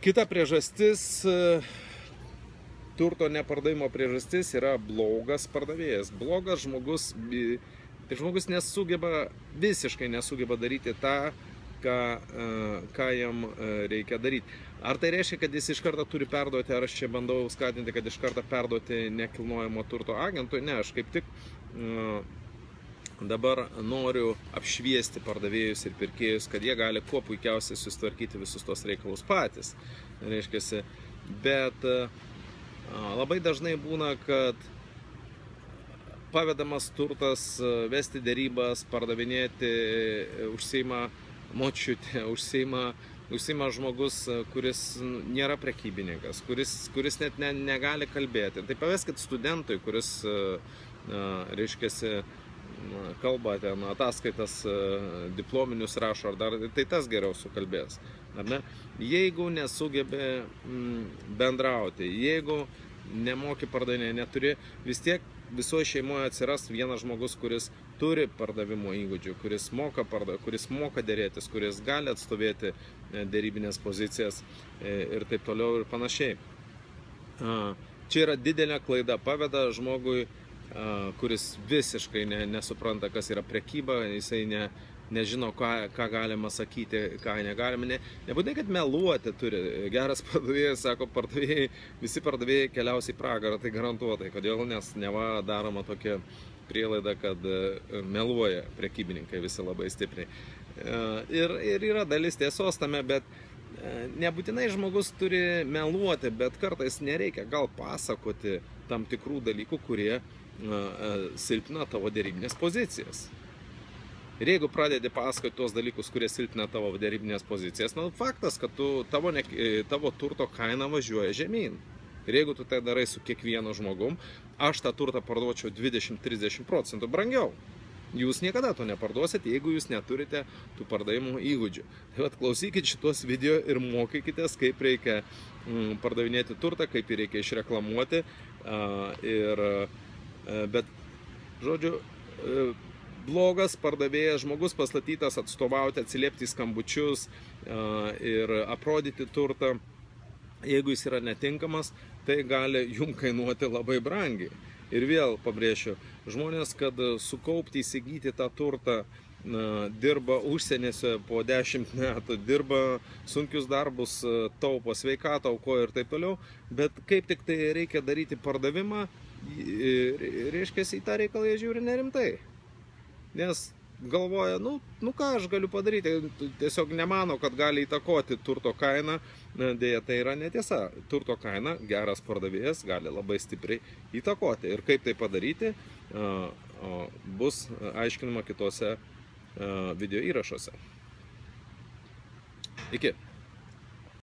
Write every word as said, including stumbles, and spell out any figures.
Kita priežastis, turto nepardavimo priežastis yra blogas pardavėjas. Blogas žmogus, tai žmogus nesugeba, visiškai nesugeba daryti tą, ką, ką jam reikia daryti. Ar tai reiškia, kad jis iš karto turi perduoti, ar aš čia bandau skatinti, kad iš karto perduoti nekilnojamo turto agentui? Ne, aš kaip tik dabar noriu apšviesti pardavėjus ir pirkėjus, kad jie gali kuo puikiausiai susitvarkyti visus tos reikalus patys. Reiškiasi, bet labai dažnai būna, kad pavedamas turtas, vesti dėrybas, pardavinėti, užsiima močiutė, užsiima, užsiima žmogus, kuris nėra prekybininkas, kuris, kuris net ne, negali kalbėti. Tai paveskit studentui, kuris, reiškiasi, kalba ten ataskaitas, diplominius rašo, ar dar, tai tas geriau sukalbės. Ar ne? Jeigu nesugebė bendrauti, jeigu nemoki pardavinėti, neturi, vis tiek visoje šeimoje atsiras vienas žmogus, kuris turi pardavimo įgūdžių, kuris moka, parda, kuris moka dėrėtis, kuris gali atstovėti dėrybinės pozicijas ir taip toliau ir panašiai. Čia yra didelė klaida, paveda žmogui, kuris visiškai ne, nesupranta, kas yra prekyba, jisai ne, nežino, ką, ką galima sakyti, ką negalima. Ne, nebūtinai, kad meluoti turi. Geras pardavėjas, sako, pardavėjai, visi pardavėjai keliaus į pragarą, tai garantuotai. Kodėl? Nes neva daroma tokia prielaida, kad meluoja prekybininkai visi labai stipriai. Ir, ir yra dalis tiesos tame, bet nebūtinai žmogus turi meluoti, bet kartais nereikia gal pasakoti tam tikrų dalykų, kurie silpina tavo dėrybinės pozicijas. Ir jeigu pradedi pasakoti tuos dalykus, kurie silpina tavo dėrybinės pozicijas, nu, faktas, kad tu, tavo, ne, tavo turto kaina važiuoja žemyn. Ir jeigu tu tai darai su kiekvienu žmogum, aš tą turtą parduočiau dvidešimt trisdešimt procentų brangiau. Jūs niekada to neparduosit, jeigu jūs neturite tų pardavimų įgūdžių. Tai vat, klausykit šitos video ir mokykitės, kaip reikia mm, pardavinėti turtą, kaip jį reikia išreklamuoti. Uh, ir, uh, bet, žodžiu, uh, blogas pardavėjas, žmogus pastatytas atstovauti, atsiliepti į skambučius uh, ir aprodyti turtą, jeigu jis yra netinkamas, tai gali jum kainuoti labai brangiai. Ir vėl pabrėšiu, žmonės, kad sukaupti, įsigyti tą turtą, na, dirba užsienėse po dešimt metų, dirba sunkius darbus, taupo sveikatą, aukoja ir taip toliau, bet kaip tik tai reikia daryti pardavimą, reiškia, į tą reikalą jie žiūri nerimtai. Nes galvoja, nu, nu ką aš galiu padaryti, tiesiog nemano, kad gali įtakoti turto kainą, dėja tai yra netiesa. Turto kaina geras pardavėjas gali labai stipriai įtakoti. Ir kaip tai padaryti, bus aiškinama kitose video įrašuose. Iki.